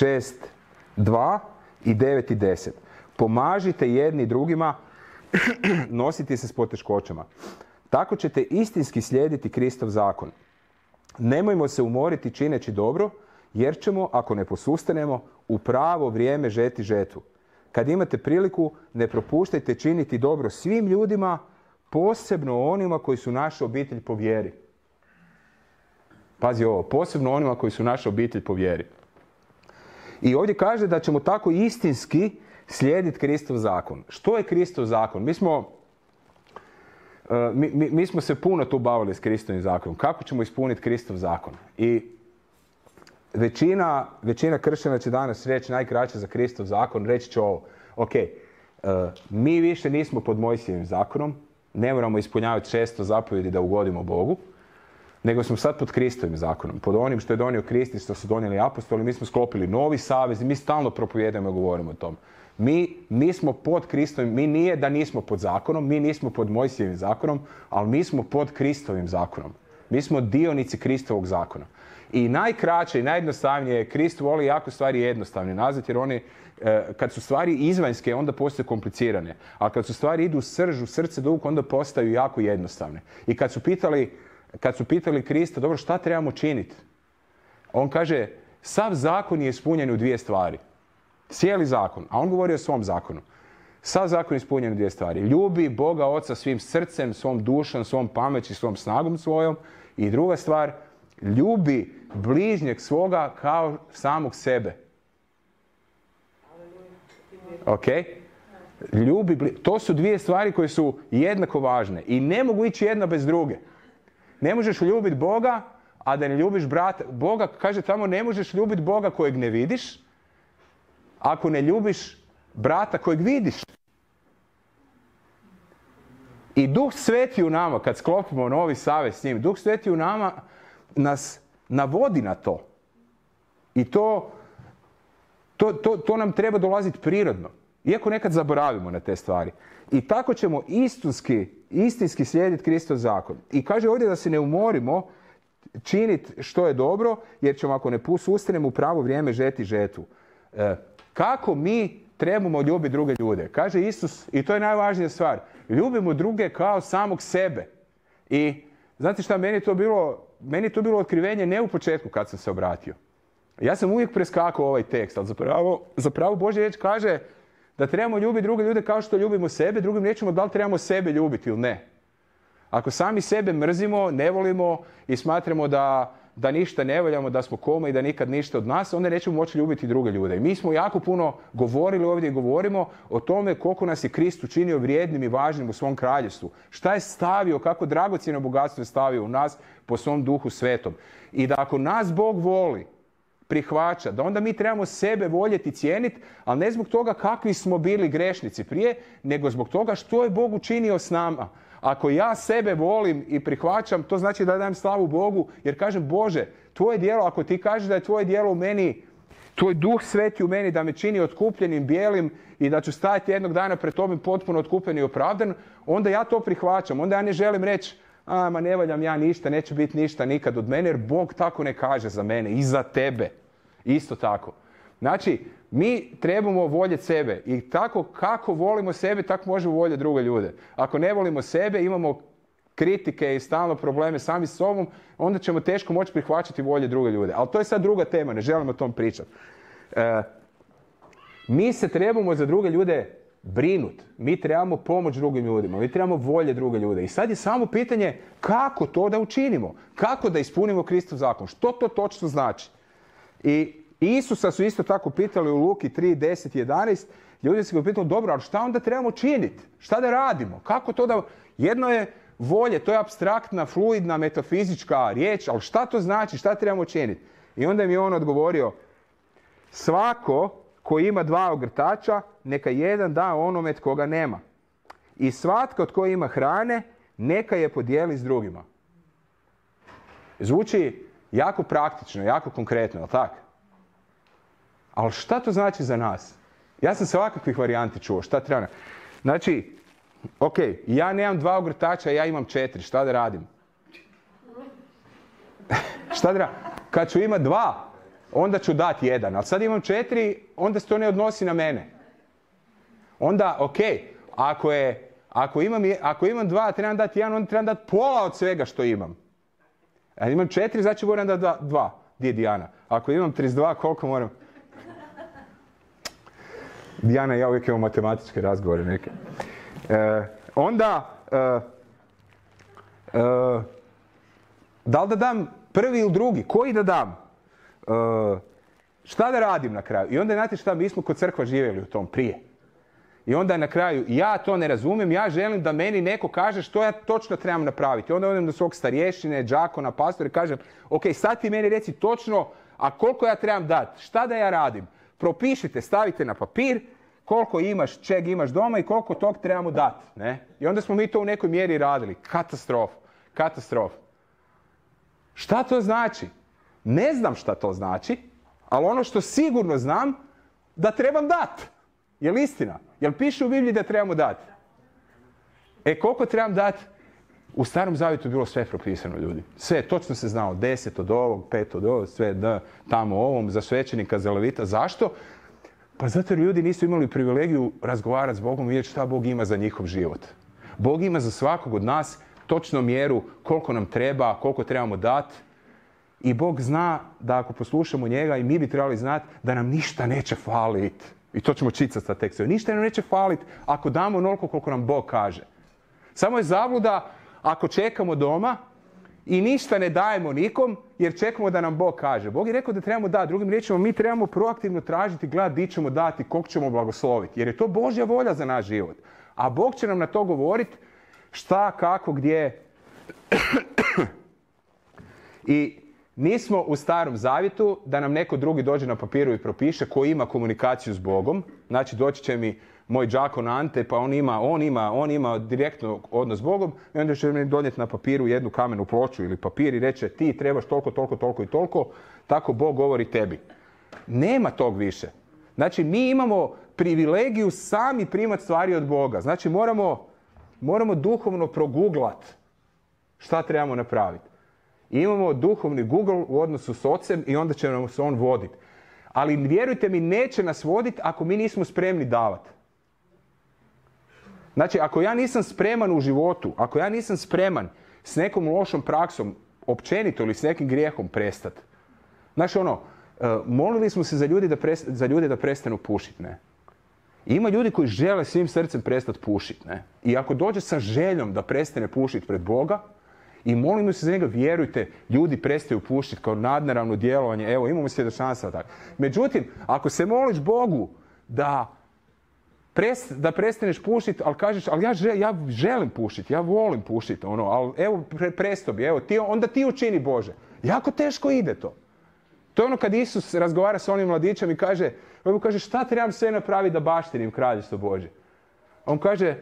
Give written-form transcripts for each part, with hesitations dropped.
6:2 i 9:10. Pomažite jedni drugima nositi se s poteškoćama. Tako ćete istinski slijediti Kristov zakon. Nemojmo se umoriti čineći dobro, jer ćemo, ako ne posustanemo, u pravo vrijeme žeti žetvu. Kad imate priliku, ne propuštajte činiti dobro svim ljudima, posebno onima koji su naša obitelj po vjeri. Pazi ovo, posebno onima koji su naša obitelj po vjeri. I ovdje kaže da ćemo tako istinski slijediti Kristov zakon. Što je Kristov zakon? Mi smo se puno tu bavili s Kristovim zakonom. Kako ćemo ispuniti Kristov zakon? I većina kršćana će danas reći najkraće za Kristov zakon, reći će ovo. Ok, mi više nismo pod Mojsijevim zakonom, ne moramo ispunjavati 600 zapovjedi da ugodimo Bogu, nego smo sad pod Kristovim zakonom, pod onim što je donio Krist i što su donijeli apostoli. Mi smo sklopili novi savez i mi stalno propovijedamo i govorimo o tom. Mi smo pod Kristovim, mi nije da nismo pod zakonom, mi nismo pod Mojsijevim zakonom, ali mi smo pod Kristovim zakonom. Mi smo dionici Kristovog zakona. I najkraće i najjednostavnije, Krist voli jako stvari jednostavne nazvati, jer oni, kad su stvari izvanjske, onda postaju komplicirane. A kad su stvari idu u srž, u srce, duh, onda postaju jako jednostavne. I kad su pitali Krista, dobro, šta trebamo činiti? On kaže, sav zakon je ispunjen u 2 stvari. Cijeli zakon. A on govori o svom zakonu. Sav zakon je ispunjen u 2 stvari. Ljubi Boga Oca svim srcem, svom dušom, svom pameći, svom snagom svojom. I druga stvar, ljubi bližnjeg svoga kao samog sebe. Ok? To su 2 stvari koje su jednako važne. I ne mogu ići jedna bez druge. Ne možeš ljubiti Boga, a da ne ljubiš brata. Boga, kaže tamo, ne možeš ljubiti Boga kojeg ne vidiš, ako ne ljubiš brata kojeg vidiš. I Duh Sveti u nama, kad sklopimo novi savez s njim, Duh Sveti u nama nas navodi na to. I to nam treba dolaziti prirodno. Iako nekad zaboravimo na te stvari. I tako ćemo istinski slijediti Kristov zakon. I kaže ovdje da se ne umorimo činiti što je dobro, jer ćemo, ako ne sustanemo, u pravo vrijeme žeti žetvu. Kako mi trebamo ljubiti druge ljude? Kaže Isus, i to je najvažnija stvar, ljubimo druge kao samog sebe. I znate šta, meni je to bilo otkrivenje ne u početku kad sam se obratio. Ja sam uvijek preskakao ovaj tekst, ali zapravo Božja riječ kaže da trebamo ljubiti druge ljude kao što ljubimo sebe, drugim riječima da li trebamo sebe ljubiti ili ne. Ako sami sebe mrzimo, ne volimo i smatramo da ništa ne voljamo, da smo koma i da nikad ništa od nas, onda nećemo moći ljubiti druge ljude. I mi smo jako puno govorili ovdje i govorimo o tome koliko nas je Krist učinio vrijednim i važnim u svom kraljevstvu. Šta je stavio, kako dragocjeno bogatstvo je stavio u nas po svom Duhu Svetom. I da ako nas Bog voli, prihvaća, da onda mi trebamo sebe voljeti i cijeniti, ali ne zbog toga kakvi smo bili grešnici prije, nego zbog toga što je Bog učinio s nama. Ako ja sebe volim i prihvaćam, to znači da dajem slavu Bogu, jer kažem, Bože, tvoje djelo, ako ti kažeš da je tvoje djelo u meni, tvoj Duh Sveti u meni da me čini otkupljenim, bijelim i da ću stajati jednog dana pred tobom potpuno otkupljen i opravdan, onda ja to prihvaćam. Onda ja ne želim reći, ma ne valjam ja ništa, neće biti ništa nikad od mene, jer Bog tako ne kaže za mene i za tebe. Isto tako. Znači, mi trebamo voljeti sebe i tako kako volimo sebe, tako možemo voljeti druge ljude. Ako ne volimo sebe, imamo kritike i stalno probleme sami s sobom, onda ćemo teško moći prihvaćati volje druge ljude. Ali to je sad druga tema, ne želimo o tom pričati. Mi se trebamo za druge ljude brinuti. Mi trebamo pomoć drugim ljudima. Mi trebamo volje druge ljude. I sad je samo pitanje kako to da učinimo. Kako da ispunimo Kristov zakon. Što to točno znači? I Isusa su isto tako pitali u Luki 3, 10, 11. Ljudi su ga pitali, dobro, ali šta onda trebamo činiti? Šta da radimo? Kako to da... Jedno je volje, to je apstraktna, fluidna, metafizička riječ, ali šta to znači? Šta trebamo činiti? I onda mi je on odgovorio, svako ko ima 2 ogrtača, neka jedan da onome tko nema. I svatko tko ima hrane, neka je podijeli s drugima. Zvuči jako praktično, jako konkretno, ali tako? Ali šta to znači za nas? Ja sam se ovakvih varijanti čuo, šta treba? Znači, ok, ja nemam 2 ogrtača, ja imam 4, šta da radim? Šta da radim? Kad ću imati 2, onda ću dati 1. Ali sad imam 4, onda se to ne odnosi na mene. Onda, ok, ako imam 2, trebam dati 1, onda trebam dati pola od svega što imam. A imam 4, znači moram dati 2. Gdje je Dijana? Ako imam 32, koliko moram? Dijana i ja uvijek imamo matematičke razgovore neke. Onda, da li da dam prvi ili drugi? Koji da dam? Šta da radim na kraju? I onda, znate šta, mi smo kod crkva živjeli u tom prije. I onda na kraju, ja to ne razumijem, ja želim da meni neko kaže što ja točno trebam napraviti. Onda odem do svog starješine, đakona, pastora i kažem, ok, sad ti meni reci točno, a koliko ja trebam dati? Šta da ja radim? Propišite, stavite na papir koliko imaš, čeg imaš doma i koliko tog trebamo dati. Ne? I onda smo mi to u nekoj mjeri radili. Katastrofa. Šta to znači? Ne znam šta to znači, ali ono što sigurno znam, da trebam dati. Je li istina? Jel piše u Bibliji da trebamo dati? Koliko trebam dati? U Starom Zavjetu je bilo sve propisano, ljudi. Sve, točno se znalo. 10 od ovog, 5 od ovog, sve tamo ovom, za svećenika, za levita. Zašto? Pa zato jer ljudi nisu imali privilegiju razgovarati s Bogom i vidjeti šta Bog ima za njihov život. Bog ima za svakog od nas točno mjeru koliko nam treba, koliko trebamo dati. I Bog zna da ako poslušamo njega, i mi bi trebali znati da nam ništa neće faliti. I to ćemo čitati sa tekstom. Ništa nam neće faliti ako damo onoliko koliko nam Bog kaže. Samo je zabluda ako čekamo doma i ništa ne dajemo nikom jer čekamo da nam Bog kaže. Bog je rekao da trebamo dati. Drugim riječima, mi trebamo proaktivno tražiti, gledati di ćemo dati, koliko ćemo blagosloviti. Jer je to Božja volja za naš život. A Bog će nam na to govoriti šta, kako, gdje. I nismo u Starom Zavjetu da nam neko drugi dođe na papiru i propiše koji ima komunikaciju s Bogom. Znači doći će mi moj đakon Ante, pa on ima direktno odnos s Bogom i onda će mi donijeti na papiru jednu kamenu ploču ili papir i reće ti trebaš toliko i toliko, tako Bog govori tebi. Nema tog više. Znači mi imamo privilegiju sami primati stvari od Boga. Znači moramo duhovno proguglat šta trebamo napraviti. Imamo duhovni Google u odnosu s ocem i onda će nam se on voditi. Ali vjerujte mi, neće nas voditi ako mi nismo spremni davati. Znači, ako ja nisam spreman u životu, ako ja nisam spreman s nekom lošom praksom općenito ili s nekim grijehom prestati. Znači molili smo se za ljude da prestanu pušiti, ne? Ima ljudi koji žele svim srcem prestati pušiti, ne? I ako dođe sa željom da prestane pušiti pred Boga, i molimo se za njega, vjerujte, ljudi prestaju pušiti kao nadnaravno djelovanje. Evo, imamo svjedočanstva tako. Međutim, ako se moliš Bogu da prestaneš pušiti, ali kažeš, ali ja želim pušiti, ja volim pušiti, ali evo, presto bi, evo, onda ti učini Bože. Jako teško ide to. To je kad Isus razgovara sa onim mladićem i kaže, šta trebam sve napraviti da baštinim kraljevstvo Božje? On kaže,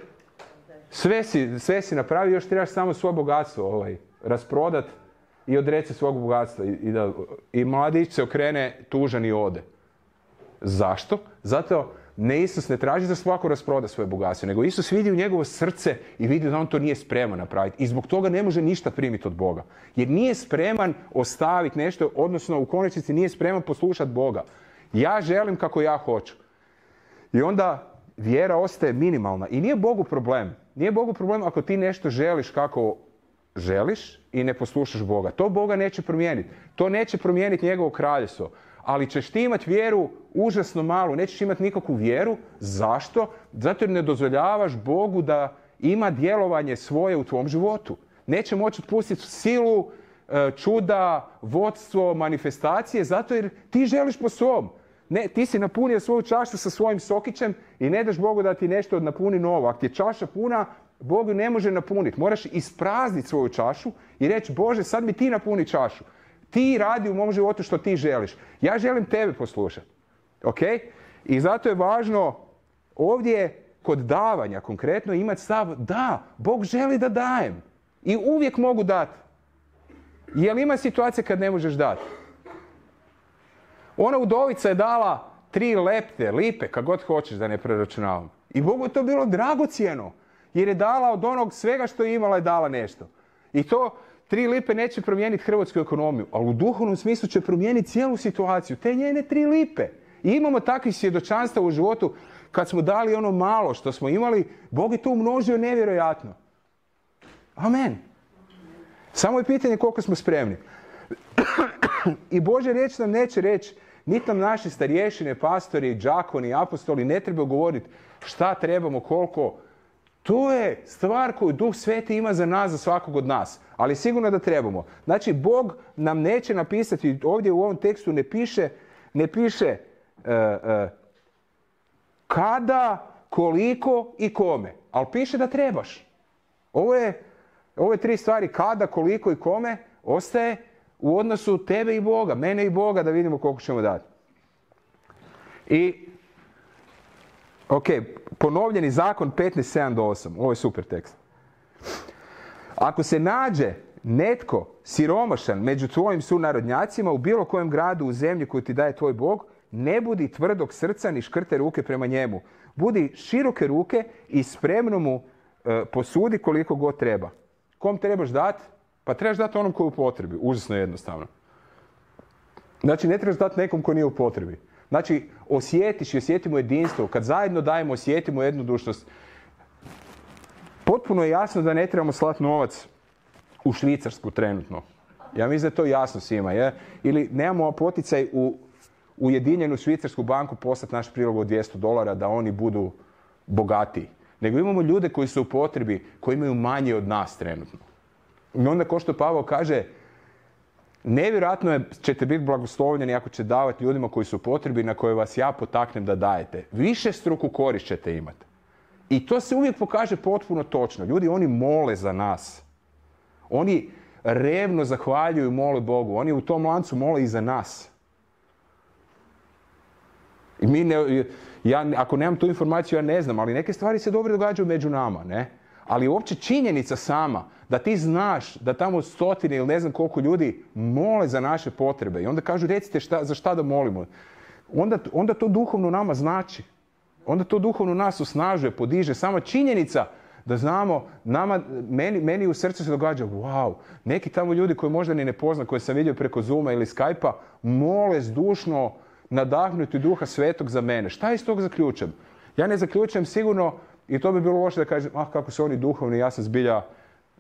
sve si napravio, još trebaš samo svoje bogatstvo rasprodat i odreći se svog bogatstva. I mladić se okrene tužan i ode. Zašto? Zato Isus ne traži da svako rasproda svoje bogatstvo, nego Isus vidi u njegovo srce i vidi da on to nije spreman napraviti. I zbog toga ne može ništa primiti od Boga. Jer nije spreman ostaviti nešto, odnosno u konačnici nije spreman poslušati Boga. Ja želim kako ja hoću. I onda vjera ostaje minimalna. I nije Bogu problem. Nije Bogu problem ako ti nešto želiš kako želiš i ne poslušaš Boga. To Boga neće promijeniti. To neće promijeniti njegovo kraljevstvo. Ali ćeš ti imati vjeru užasno malu. Nećeš imati nikakvu vjeru. Zašto? Zato jer ne dozvoljavaš Bogu da ima djelovanje svoje u tvom životu. Neće moći otpustiti silu, čuda, vodstvo, manifestacije, zato jer ti želiš po svom. Ne, ti si napunio svoju čašu sa svojim sokićem i ne daš Bogu da ti nešto napuni novo. Ako ti je čaša puna, Bog ju ne može napuniti. Moraš isprazniti svoju čašu i reći, Bože, sad mi ti napuni čašu. Ti radi u mom životu što ti želiš. Ja želim tebe poslušati. Ok? I zato je važno ovdje kod davanja konkretno imati stav, da, Bog želi da dajem. I uvijek mogu dati. Jel ima situacija kad ne možeš dati? Ona udovica je dala 3 lipe, kako god hoćeš da ne preračunavam. I Bogu je to bilo dragocjeno. Jer je dala od onog svega što je imala je dala nešto. I 3 lipe neće promijeniti hrvatsku ekonomiju, ali u duhovnom smislu će promijeniti cijelu situaciju. Te njene 3 lipe. I imamo takvih svjedočanstva u životu kad smo dali ono malo što smo imali, Bog je to umnožio nevjerojatno. Amen. Samo je pitanje koliko smo spremni. I Božja riječ nam neće reći, niti nam naši starješine, pastori, đakoni, apostoli ne treba govoriti šta trebamo, koliko. To je stvar koju Duh Sveti ima za nas, za svakog od nas. Ali sigurno da trebamo. Znači, Bog nam neće napisati, ovdje u ovom tekstu ne piše kada, koliko i kome. Ali piše da trebaš. Ove 3 stvari, kada, koliko i kome, ostaje u odnosu tebe i Boga, mene i Boga, da vidimo koliko ćemo dati. I, ok, ponovljeni zakon 15:7-8. Ovo je super tekst. Ako se nađe netko siromašan među tvojim sunarodnjacima u bilo kojem gradu u zemlji koju ti daje tvoj Bog, ne budi tvrdog srca ni škrte ruke prema njemu. Budi široke ruke i spremno mu posudi koliko god treba. Kom trebaš dati? Pa trebaš dati onom koji je u potrebi. Užasno jednostavno. Znači, ne trebaš dati nekom koji nije u potrebi. Znači, osjetiš i osjetimo jedinstvo. Kad zajedno dajemo, osjetimo jednodušnost. Potpuno je jasno da ne trebamo slati novac u Švicarsku trenutno. Ja mislim da je to jasno svima. Je? Ili nemamo poticaj u Ujedinjenu Švicarsku banku poslati naš prilog od $200 da oni budu bogatiji. Nego imamo ljude koji su u potrebi, koji imaju manje od nas trenutno. I onda, ko što Pavao kaže, nevjerojatno ćete biti blagoslovljeni ako će davati ljudima koji su u potrebi, na koje vas ja potaknem da dajete. Višestruku korist ćete imati. I to se uvijek pokaže potpuno točno. Ljudi, oni mole za nas. Oni revno zahvaljuju i mole Bogu. Oni u tom lancu mole i za nas. I ako nemam tu informaciju, ja ne znam, ali neke stvari se dobro događaju među nama, ne? Ali uopće činjenica sama da ti znaš da tamo 100 ili ne znam koliko ljudi mole za naše potrebe i onda kažu recite za šta da molimo. Onda to duhovno nama znači. Onda to duhovno nas osnažuje, podiže. Sama činjenica da znamo, meni u srcu se događa, wow, neki tamo ljudi koji možda ni ne poznam, koje sam vidio preko Zooma ili Skype-a, mole zdušno nadahnuti Duha Svetog za mene. Šta iz tog zaključam? Ja ne zaključam sigurno, i to bi bilo loše da kažem, kako su oni duhovni, ja sam zbilja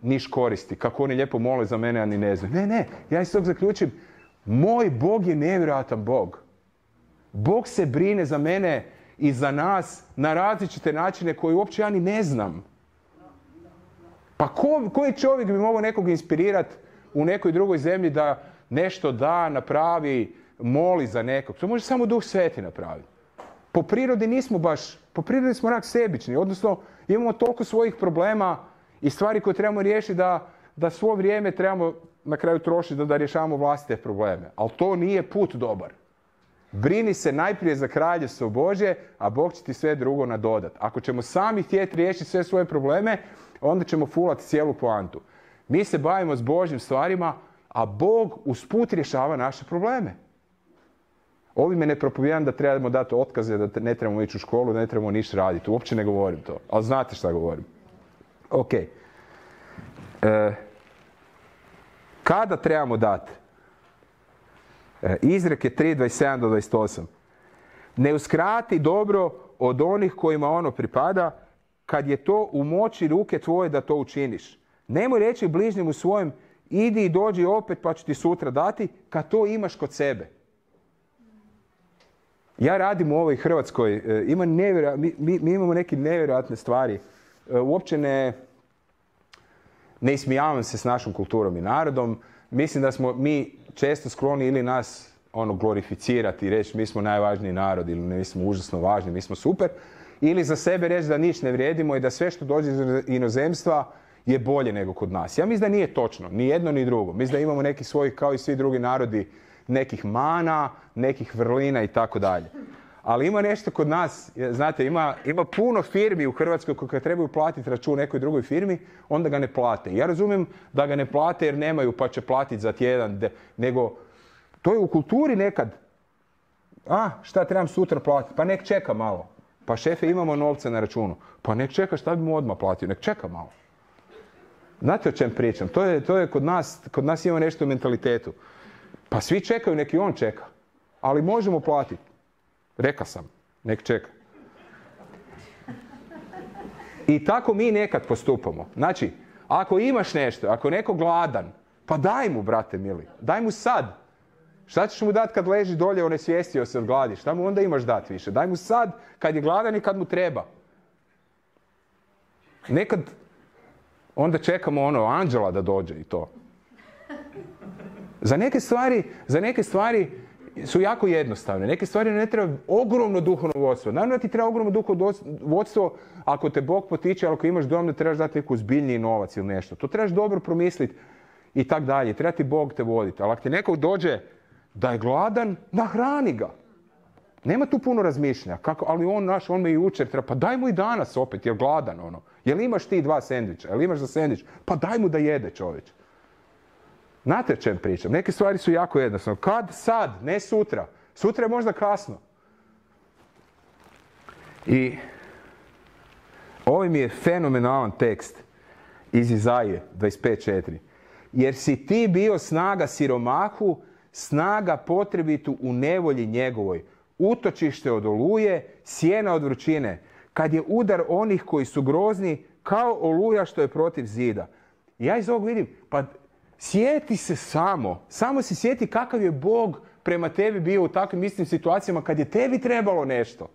niš koristi, kako oni lijepo mole za mene, a ni ne znam. Ne, ja iz tog zaključim, moj Bog je nevjerojatan Bog. Bog se brine za mene i za nas na različite načine koje uopće ja ni ne znam. Pa koji čovjek bi mogao nekog inspirirati u nekoj drugoj zemlji da nešto da, napravi, moli za nekog? To može samo Duh Sveti napraviti. Po prirodi smo rak sebični, odnosno imamo toliko svojih problema i stvari koje trebamo riješiti da svo vrijeme trebamo na kraju trošiti da rješavamo vlastite probleme. Ali to nije put dobar. Brini se najprije za kraljevstvo Božje, a Bog će ti sve drugo nadodati. Ako ćemo sami htjeti riješiti sve svoje probleme, onda ćemo fulati cijelu poantu. Mi se bavimo s Božjim stvarima, a Bog usput rješava naše probleme. Ovime ne propovijedam da trebamo dati otkaze, da ne trebamo ići u školu, da ne trebamo ništa raditi. Uopće ne govorim to, ali znate šta govorim. Ok. Kada trebamo dati? Izreke 3:27-28. Ne uskrati dobro od onih kojima ono pripada, kad je to u moći ruke tvoje da to učiniš. Nemoj reći bližnjemu svojem, idi i dođi opet pa ću ti sutra dati, kad to imaš kod sebe. Ja radim u ovoj Hrvatskoj, mi imamo neke nevjerojatne stvari. Uopće ne ismijavam se s našom kulturom i narodom. Mislim da smo mi često skloni ili nas glorificirati i reći mi smo najvažniji narod ili mi smo užasno važni, mi smo super. Ili za sebe reći da ništa ne vrijedimo i da sve što dođe iz inozemstva je bolje nego kod nas. Ja mislim da nije točno, ni jedno ni drugo. Mislim da imamo neki svojih, kao i svi drugi narodi, nekih mana, nekih vrlina i tako dalje. Ali ima nešto kod nas, znate, ima puno firmi u Hrvatskoj koje trebaju platiti račun nekoj drugoj firmi, onda ga ne plate. Ja razumijem da ga ne plate jer nemaju pa će platiti za tjedan, nego to je u kulturi nekad. Šta trebam sutra platiti? Pa nek čeka malo. Pa šefe, imamo novca na računu. Pa nek čeka, šta bi mu odmah platio? Nek čeka malo. Znate o čem pričam? To je kod nas ima nešto u mentalitetu. Pa svi čekaju, neki on čeka. Ali možemo platiti. Reka sam, nek čeka. I tako mi nekad postupamo. Znači, ako imaš nešto, ako je neko gladan, pa daj mu, brate mili. Daj mu sad. Šta ćeš mu dati kad leži dolje, onesvijestio se od gladi? Šta mu onda imaš dati više? Daj mu sad, kad je gladan i kad mu treba. Nekad onda čekamo anđela da dođe i to. Za neke stvari su jako jednostavne. Neke stvari ne treba ogromno duhovno vodstvo. Naravno da ti treba ogromno duhovno vodstvo ako te Bog potiče, ali ako imaš dom da trebaš dati neku zbiljniji novac ili nešto. To trebaš dobro promisliti i tak dalje. Treba ti Bog te voditi. Ali ako ti neko dođe da je gladan, nahrani ga. Nema tu puno razmišljanja. Ali on me i jučer treba. Pa daj mu i danas opet, jer gladan ono. Jel imaš ti 2 sendviča? Jel imaš za sendvič? Pa daj mu da jede, čovječ. Znate o čem pričam? Neke stvari su jako jednostavne. Kad? Sad, ne sutra. Sutra je možda kasno. I ovaj mi je fenomenalan tekst iz Izaije 25.4. Jer si ti bio snaga siromahu, snaga potrebitu u nevolji njegovoj, utočište od oluje, sjena od vrućine, kad je udar onih koji su grozni, kao oluja što je protiv zida. I ja iz ovog vidim, pa sjeti se samo se sjeti kakav je Bog prema tebi bio u takvim istim situacijama kad je tebi trebalo nešto.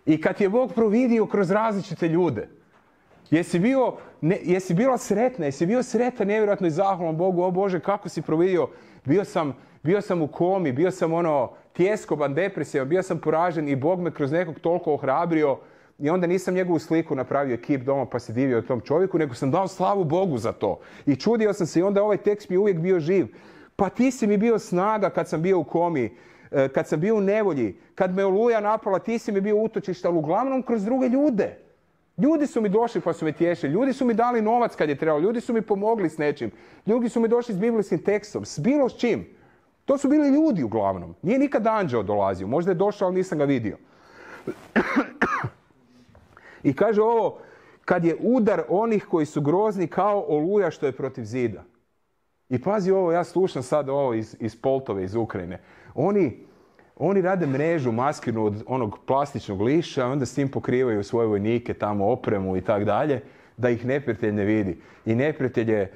I kad je Bog providio kroz različite ljude. Jesi bila sretna, jesi bio sretan, nevjerojatno i zahvalan Bogu, o Bože, kako si providio. Bio sam u komi, bio sam tjeskoban, depresivan, bio sam poražen i Bog me kroz nekog toliko ohrabrio i onda nisam njegovu sliku napravio ekip doma pa se divio tom čovjeku, nego sam dao slavu Bogu za to. I čudio sam se i onda ovaj tekst mi je uvijek bio živ. Pa ti si mi bio snaga kad sam bio u komi, kad sam bio u nevolji, kad me oluja napala, ti si mi bio utočište, ali uglavnom kroz druge ljude. Ljudi su mi došli pa su me tješili, ljudi su mi dali novac kad je trebalo, ljudi su mi pomogli s nečim, ljudi su mi došli s biblijskim tekstom, s bilo s čim. To su bili ljudi uglavnom. Nije nikad anđeo dolazio, možda je došao, ali nisam ga vidio. I kaže ovo, kad je udar onih koji su grozni kao oluja što je protiv zida. I pazi ovo, ja slušam sad ovo iz Poltove, iz Ukrajine. Oni rade mrežu maskirnu od onog plastičnog liša, onda s tim pokrivaju svoje vojnike, tamo opremu i tak dalje, da ih neprijatelj ne vidi. I neprijatelj je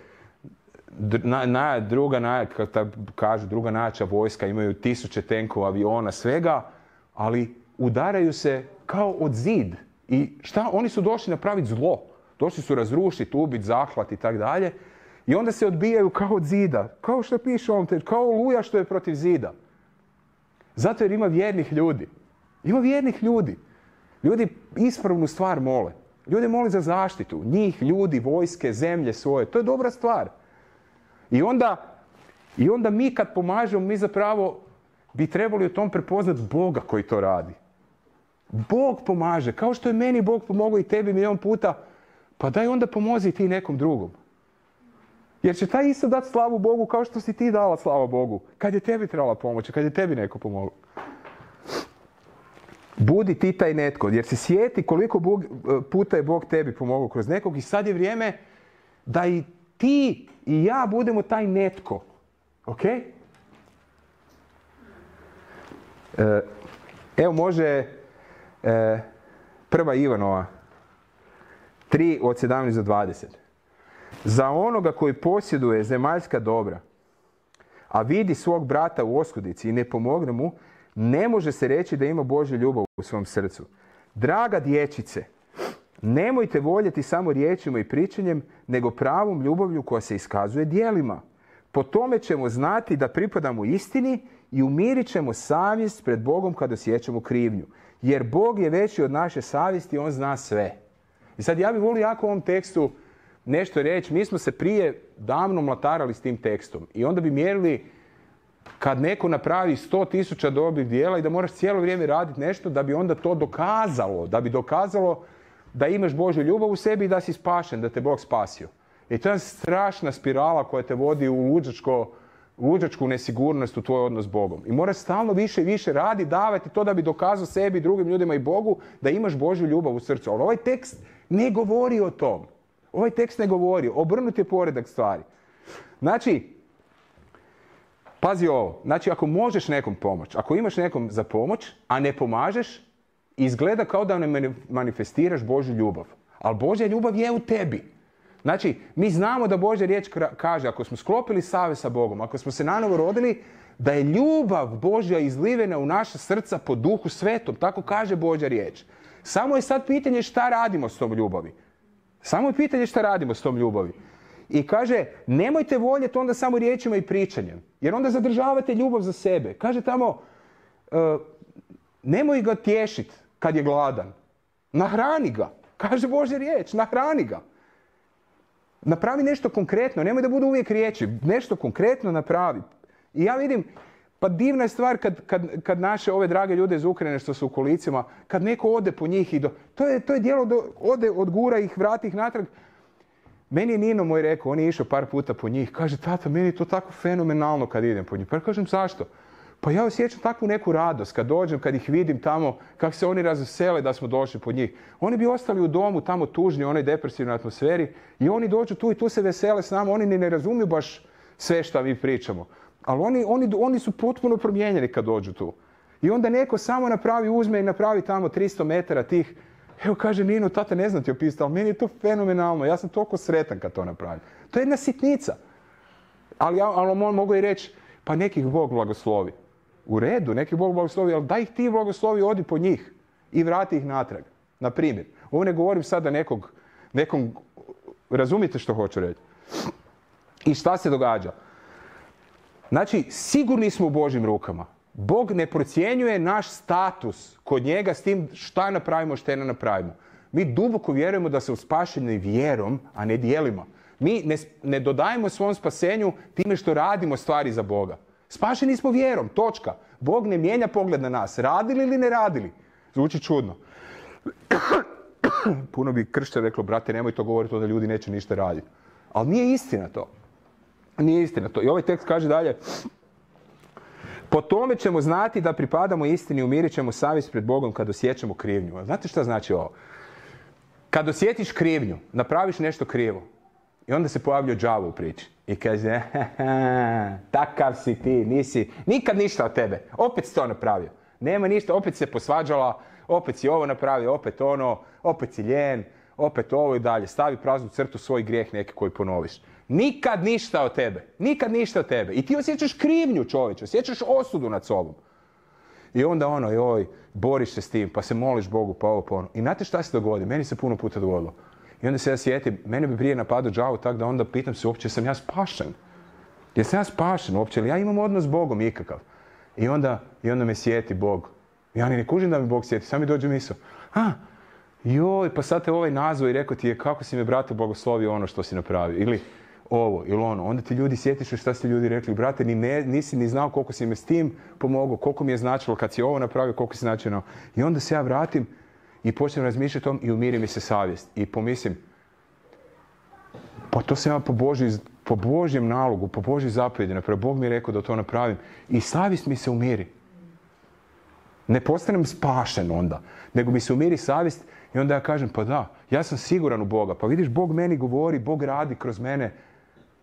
druga najjača vojska, imaju 1000 tenkova, aviona, svega, ali udaraju se kao od zid. I šta? Oni su došli napraviti zlo. Došli su razrušiti, ubiti, zahvat i tak dalje. I onda se odbijaju kao od zida. Kao što piše ovom tekstu, kao oluja što je protiv zida. Zato jer ima vjernih ljudi. Ima vjernih ljudi. Ljudi ispravnu stvar mole. Ljudi mole za zaštitu. Njih, ljudi, vojske, zemlje svoje. To je dobra stvar. I onda mi kad pomažemo, mi zapravo bi trebali u tom prepoznati Boga koji to radi. Bog pomaže. Kao što je meni Bog pomogao i tebi milion puta, pa daj onda pomozi ti nekom drugom. Jer će taj isto dati slavu Bogu kao što si ti dala slavu Bogu. Kad je tebi trebala pomoći, kad je tebi neko pomogao. Budi ti taj netko, jer se sjeti koliko puta je Bog tebi pomogao kroz nekog i sad je vrijeme da i ti i ja budemo taj netko. Ok? Evo može 1. Ivanova 3 od 17 do 20. Za onoga koji posjeduje zemaljska dobra, a vidi svog brata u oskudici i ne pomogne mu, ne može se reći da ima Božju ljubav u svom srcu. Draga dječice, nemojte voljeti samo riječima i pričanjem, nego pravom ljubavlju koja se iskazuje djelima. Po tome ćemo znati da pripadamo istini i umirit ćemo savjest pred Bogom kad osjećamo krivnju. Jer Bog je veći od naše savjesti i On zna sve. I sad ja bih volio jako u ovom tekstu nešto reći. Mi smo se prije davno mlatarali s tim tekstom. I onda bi mjerili kad neko napravi 100.000 dobrih djela i da moraš cijelo vrijeme raditi nešto da bi onda to dokazalo. Da bi dokazalo da imaš Božju ljubav u sebi i da si spašen, da te Bog spasio. I to je strašna spirala koja te vodi u luđačku nesigurnost u tvoj odnos s Bogom. I moraš stalno više i više raditi, davati to da bi dokazao sebi, drugim ljudima i Bogu da imaš Božju ljubav u srcu. Ali ovaj tekst ne govori o tom. Ovaj tekst ne govori. Obrnuti je poredak stvari. Znači, pazi ovo. Znači, ako možeš nekom pomoći, ako imaš nekom za pomoć, a ne pomažeš, izgleda kao da ne manifestiraš Božju ljubav. Ali Božja ljubav je u tebi. Znači, mi znamo da Božja riječ kaže, ako smo sklopili savez sa Bogom, ako smo se nanovo rodili, da je ljubav Božja izlivena u naša srca po Duhu Svetom. Tako kaže Božja riječ. Samo je sad pitanje šta radimo s tom ljubavi. Samo je pitanje šta radimo s tom ljubavi. I kaže, nemojte voljeti onda samo riječima i pričanjem. Jer onda zadržavate ljubav za sebe. Kaže tamo, nemoj ga tješiti kad je gladan. Nahrani ga. Kaže Božja riječ, nahrani ga. Napravi nešto konkretno, nemoj da budu uvijek riječi. Nešto konkretno napravi. I ja vidim, pa divna je stvar kad naše ove drage ljude iz Ukrajine što su u kolicima, kad neko ode po njih i to je djelo ode, odgura ih, vrati ih natrag. Meni je Nino moj rekao, on je išao par puta po njih, kaže, tata, meni je to tako fenomenalno kad idem po njih. Pa ja kažem, zašto? Pa ja osjećam takvu neku radost kad dođem, kad ih vidim tamo, kako se oni razvesele da smo došli po njih. Oni bi ostali u domu tamo tužni, u onoj depresivnoj atmosferi i oni dođu tu i tu se vesele s nama, oni ne razumiju baš sve što mi pričamo. Ali oni su potpuno promijenjeni kad dođu tu. I onda neko samo uzme i napravi tamo 300 metara tih. Evo kaže Nino, tata ne znam ti opisati, ali meni je to fenomenalno. Ja sam toliko sretan kad to napravim. To je jedna sitnica. Ali on mogu i reći, pa nekih Bog blagoslovi. U redu, nekih Bog blagoslovi, ali daj ih ti blagoslovi, odi po njih i vrati ih natrag. Na primjer. Ovo ne govorim sada nekom, razumijete što hoću reći. I šta se događa? Znači, sigurni smo u Božjim rukama. Bog ne procjenjuje naš status kod njega s tim šta napravimo, šta ne napravimo. Mi duboko vjerujemo da se spašeni vjerom, a ne djelima. Mi ne dodajemo svom spasenju time što radimo stvari za Boga. Spašeni smo vjerom, točka. Bog ne mijenja pogled na nas. Radili ili ne radili? Zvuči čudno. Puno bi kršćan reklo, brate, nemoj to govoriti, da ljudi neće ništa raditi. Ali nije istina to. Nije istina to. I ovaj tekst kaže dalje, po tome ćemo znati da pripadamo istini, umirit ćemo savjest pred Bogom kad osjećamo krivnju. Znate šta znači ovo? Kad osjetiš krivnju, napraviš nešto krivo i onda se pojavlja đavo u priči i kaže, takav si ti, nisi, nikad ništa od tebe, opet si to napravio. Nema ništa, opet se posvađala, opet si ovo napravio, opet ono, opet si ljen, opet ovo i dalje. Stavi praznu crtu, svoj grijeh neki koji ponoviš. Nikad ništa od tebe. Nikad ništa od tebe. I ti osjećaš krivnju, čovječe. Osjećaš osudu nad sobom. I onda boriš se s tim, pa se moliš Bogu, pa ovo, pa ono. I znate šta se dogodi? Meni se puno puta dogodilo. I onda se ja sjetim, mene bi prije napadao đavo tako da onda pitam se uopće sam ja spašen. Jesam ja spašen uopće? Ali ja imam odnos s Bogom ikakav. I onda me sjeti Bog. Ja ni ne kužim da mi Bog sjeti. Sam mi dođe misao. Pa sad te ovaj nazvao i rekao ti je kako si me, brate, blagoslovio ono što si napravio. Ili ovo ili ono. Onda ti ljudi sjetiš šta ste ljudi rekli. Brate, nisi ni znao koliko si me s tim pomogao, koliko mi je značilo kad si ovo napravio, koliko si značilo. I onda se ja vratim i počnem razmišljati o tom i umiri mi se savjest. I pomislim, pa to sam ja po Božjem nalogu, po Božjoj zapovjedi napravio. Bog mi je rekao da to napravim. I savjest mi se umiri. Ne postanem spašen onda, nego mi se umiri savjest i onda ja kažem, pa da, ja sam siguran u Boga. Pa vidiš, Bog meni govori, Bog radi kroz mene.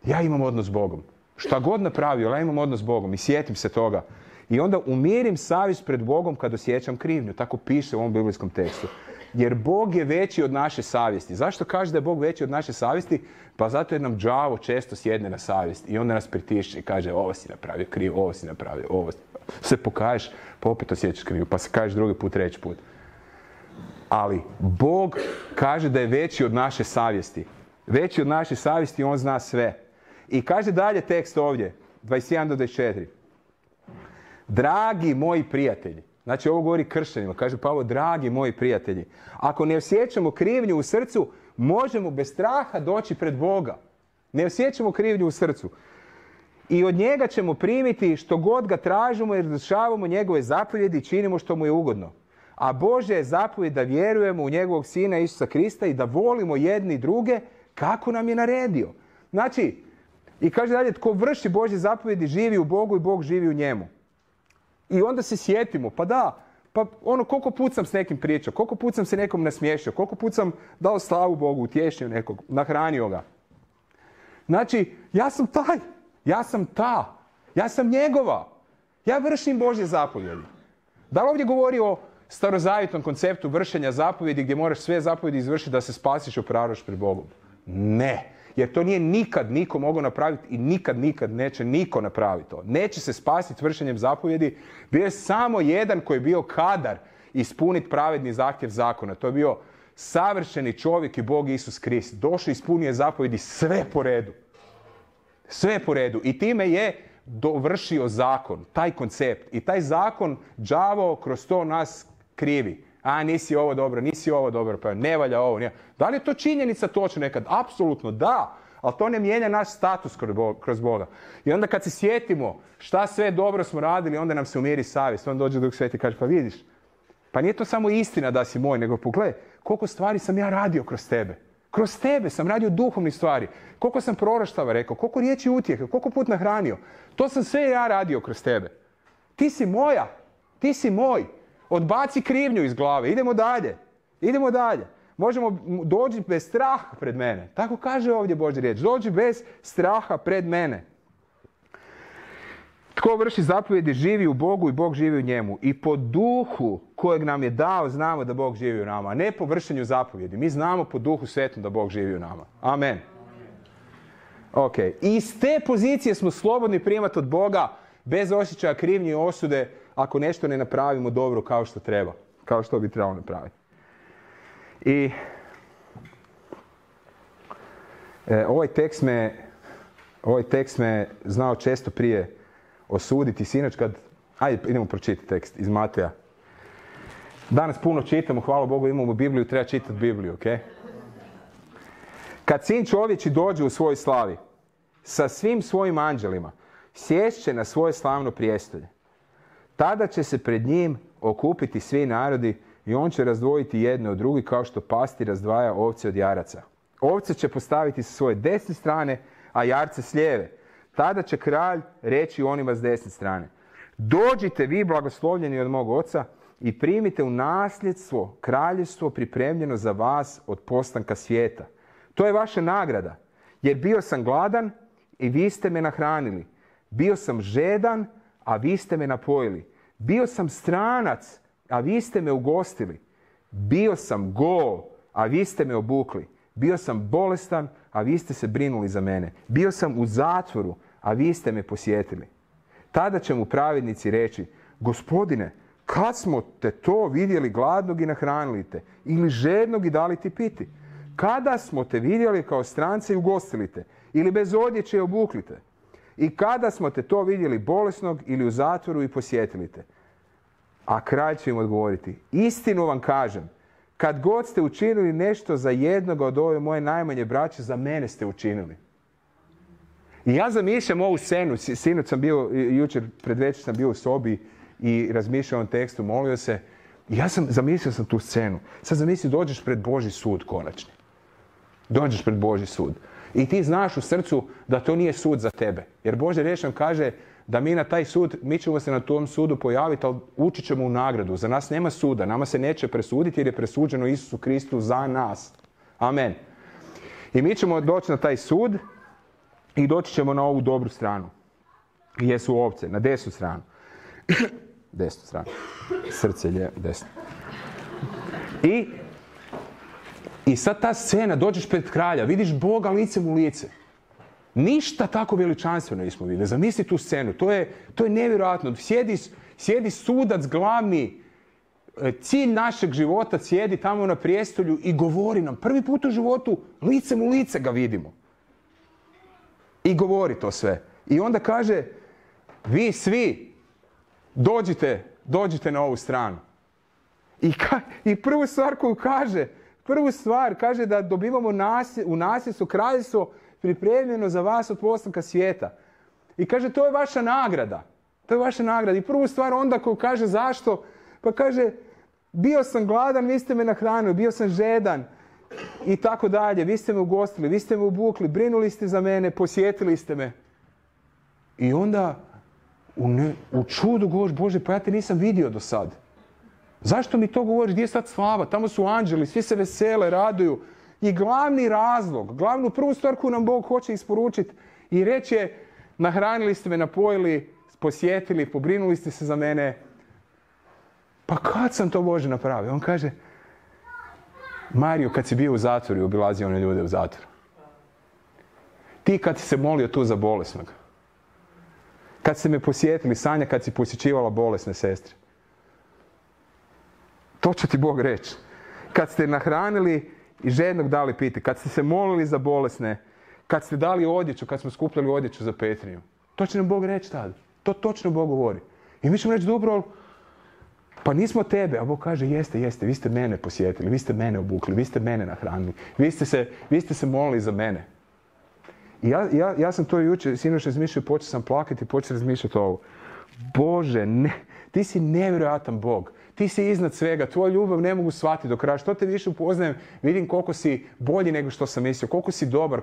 Ja imam odnos s Bogom. Šta god napravio, ja imam odnos s Bogom i sjetim se toga. I onda umirim savjest pred Bogom kad osjećam krivnju. Tako piše u ovom biblijskom tekstu. Jer Bog je veći od naše savjesti. Zašto kaže da je Bog veći od naše savjesti? Pa zato jer nam đavo često sjedne na savjest i onda nas pritišće i kaže ovo si napravio krivo, ovo si napravio, ovo se pokaješ, pa opet osjećaš krivo, pa se kažeš drugi put, treći put. Ali Bog kaže da je veći od naše savjesti. Veći od naše savjesti i on zna sve. I kaže dalje tekst ovdje, 21 do 24. Dragi moji prijatelji, znači ovo govori kršćanima, kaže Pavao, dragi moji prijatelji, ako ne osjećamo krivnju u srcu, možemo bez straha doći pred Boga. Ne osjećamo krivnju u srcu. I od njega ćemo primiti što god ga tražimo jer izvršavamo njegove zapovjedi i činimo što mu je ugodno. A Božja je zapovjed da vjerujemo u njegovog Sina Isusa Krista i da volimo jedni druge kako nam je naredio. Znači, i kaže dalje, tko vrši Božje zapovjedi živi u Bogu i Bog živi u njemu. I onda se sjetimo, pa da, Pa koliko put sam s nekim pričao, koliko put sam se nekom nasmiješio, koliko put sam dao slavu Bogu, utješio nekog, nahranio ga. Znači, ja sam taj, ja sam njegova. Ja vršim Božje zapovjedi. Da li ovdje govori o starozavjetnom konceptu vršenja zapovjedi gdje moraš sve zapovjedi izvršiti da se spasiš i opravdaš pred Bogom? Ne. Jer to nije nikad niko mogao napraviti i nikad neće niko napraviti to. Neće se spasiti vršenjem zapovjedi. Bio je samo jedan koji je bio kadar ispuniti pravedni zahtjev zakona. To je bio savršeni čovjek i Bog Isus Krist. Došao i ispunio zapovjedi sve po redu. Sve po redu. I time je dovršio zakon, taj koncept. I taj zakon đavo kroz to nas krivi. Nisi ovo dobro, pa ne valja ovo. Nije. Da li je to činjenica točno nekad? Apsolutno da, ali to ne mijenja naš status kroz Boga. I onda kad se sjetimo šta sve dobro smo radili, onda nam se umiri savjest. Onda dođe Duh Sveti i kaže, pa vidiš, pa nije to samo istina da si moj, nego pogledaj, koliko stvari sam ja radio kroz tebe. Kroz tebe sam radio duhovnih stvari. Koliko sam proroštava rekao, koliko riječi utjehe, koliko put nahranio. To sam sve ja radio kroz tebe. Ti si moja, ti si moj. Odbaci krivnju iz glave. Idemo dalje. Možemo doći bez straha pred mene. Tako kaže ovdje Božja riječ. Dođi bez straha pred mene. Tko vrši zapovjedi živi u Bogu i Bog živi u njemu. I po duhu kojeg nam je dao znamo da Bog živi u nama. A ne po vršenju zapovjedi. Mi znamo po duhu svetom da Bog živi u nama. Amen. Ok. I iz te pozicije smo slobodni primati od Boga bez osjećaja krivnje i osude ako nešto ne napravimo dobro kao što treba. Kao što bi trebalo napraviti. I ovaj tekst me znao često prije osuditi. Sinoć kad... Ajde, idemo pročitati tekst iz Mateja. Danas puno čitamo, hvala Bogu, imamo Bibliju, treba čitati Bibliju, ok? Kad Sin čovječi dođe u svojoj slavi, sa svim svojim anđelima, sjest će na svoje slavno prijestolje. Tada će se pred njim okupiti svi narodi i on će razdvojiti jedne od drugih kao što pastir razdvaja ovce od jaraca. Ovce će postaviti sa svoje desne strane, a jarce s lijeve. Tada će kralj reći onima s desne strane: dođite vi blagoslovljeni od mog oca i primite u nasljedstvo kraljevstvo pripremljeno za vas od postanka svijeta. To je vaša nagrada, jer bio sam gladan i vi ste me nahranili. Bio sam žedan, a vi ste me napojili. Bio sam stranac, a vi ste me ugostili. Bio sam gol, a vi ste me obukli. Bio sam bolestan, a vi ste se brinuli za mene. Bio sam u zatvoru, a vi ste me posjetili. Tada će mu pravednici reći: Gospodine, kad smo te to vidjeli gladnog i nahranili te, ili žednog i dali ti piti? Kada smo te vidjeli kao stranca i ugostili te, ili bez odjeće i obukli te? I kada smo te to vidjeli bolesnog ili u zatvoru i posjetili te? A kralj će im odgovoriti: istinu vam kažem, kad god ste učinili nešto za jednoga od ove moje najmanje braće, za mene ste učinili. I ja zamišljam ovu scenu. Sinoć sam bio, jučer predvečer sam bio u sobi i razmišljao o ovom tekstu, molio se. I zamislio sam tu scenu. Sad zamisli, dođeš pred Božji sud konačni. Dođeš pred Božji sud. I ti znaš u srcu da to nije sud za tebe. Jer Božja riječ nam kaže da mi na taj sud, mi ćemo se na tom sudu pojaviti, ali ući ćemo u nagradu. Za nas nema suda. Nama se neće presuditi jer je presuđeno Isusu Kristu za nas. Amen. I mi ćemo doći na taj sud i doći ćemo na ovu dobru stranu. Gdje su ovce? Na desnu stranu. Desnu stranu. Srce je desno. I sad ta scena, dođeš pred kralja, vidiš Boga licem u lice. Ništa tako veličanstveno nismo vidjeli. Zamisli tu scenu. To je nevjerojatno. Sjedi sudac glavni, cilj našeg života, sjedi tamo na prijestolju i govori nam. Prvi put u životu licem u lice ga vidimo. I govori to sve. I onda kaže: vi svi dođite na ovu stranu. I prvu stvar koju kaže da dobivamo u nasljedstvo kraljevstvo pripremljeno za vas od postanka svijeta. I kaže, to je vaša nagrada. To je vaša nagrada. I prvu stvar onda koju kaže zašto, pa kaže: bio sam gladan, vi ste me nahranili, bio sam žedan i tako dalje. Vi ste me ugostili, vi ste me obukli, brinuli ste za mene, posjetili ste me. I onda u čudu govoriš: Bože, pa ja te nisam vidio do sad. Zašto mi to govoriš? Gdje je sad slava? Tamo su anđeli, svi se vesele, raduju. I glavni razlog, glavnu prvu stvar koju nam Bog hoće isporučiti i reći je, nahranili ste me, napojili, posjetili, pobrinuli ste se za mene. Pa kad sam to, Bože, napravio? On kaže, Mario, kad si bio u zatvoru i obilazio one ljude u zatvoru. Ti kad si se molio tu za bolesnog. Kad ste me posjetili, Sanja, kad si posjećivala bolesne sestre. To će ti Bog reći. Kad ste nahranili i žednog dali piti, kad ste se molili za bolesne, kad ste dali odjeću, kad smo skupljali odjeću za Petrinju. To će nam Bog reći tada. To točno Bog govori. I mi ćemo reći, dobro, pa nismo tebe. A Bog kaže, jeste, vi ste mene posjetili, vi ste mene obukli, vi ste mene nahranili, vi ste se molili za mene. I ja sam to jučer, sinoć razmišljao, počeo sam plakati, počeo razmišljati ovo. Bože, ti si nevjerojatan Bog. Ti si iznad svega, tvoju ljubav ne mogu shvatiti do kraja. Što te više upoznajem, vidim koliko si bolji nego što sam mislio, koliko si dobar,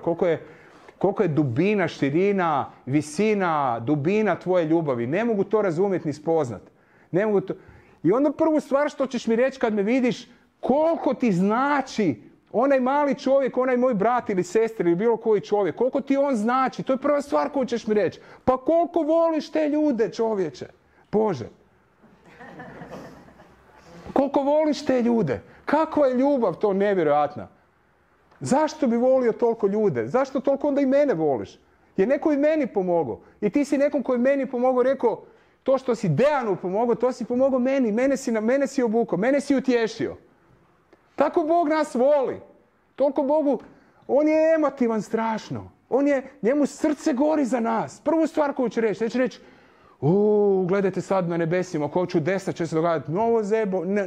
koliko je dubina, širina, visina, dubina tvoje ljubavi. Ne mogu to razumjeti ni spoznat. Ne mogu to. I onda prvu stvar što ćeš mi reći kad me vidiš, koliko ti znači onaj mali čovjek, onaj moj brat ili sestra ili bilo koji čovjek, koliko ti on znači, to je prva stvar koju ćeš mi reći. Pa koliko voliš te ljude, čovječe? Bože. Koliko voliš te ljude? Kakva je ljubav to nevjerojatna? Zašto bi volio toliko ljude? Zašto toliko onda i mene voliš? Je neko i meni pomogao. I ti si nekom koji meni pomogao rekao, to što si Dejanu pomogao, to si pomogao meni. Mene si obukao, mene si utješio. Tako Bog nas voli. Toliko Bogu, on je emotivan strašno. Njemu srce gori za nas. Prvu stvar koju će reći, neće reći, gledajte sad na nebesima, ko čudesa će se događati, novo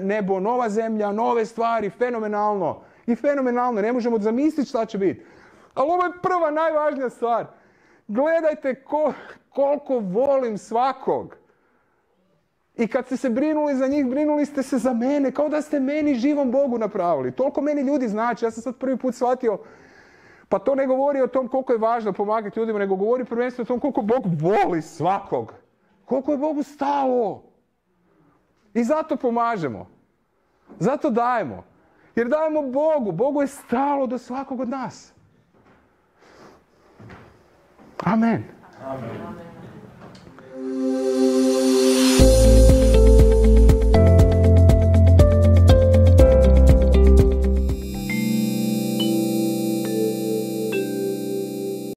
nebo, nova zemlja, nove stvari, fenomenalno. I fenomenalno, ne možemo zamisliti šta će biti. Ali ovo je prva, najvažnija stvar. Gledajte koliko volim svakog. I kad ste se brinuli za njih, brinuli ste se za mene, kao da ste meni živom Bogu napravili. Toliko meni ljudi znači, ja sam sad prvi put shvatio, pa to ne govori o tom koliko je važno pomagati ljudima, nego govori prvenstveno o tom koliko Bog voli svakog. Koliko je Bogu stalo. I zato pomažemo. Zato dajemo. Jer dajemo Bogu. Bogu je stalo do svakog od nas. Amen. Amen.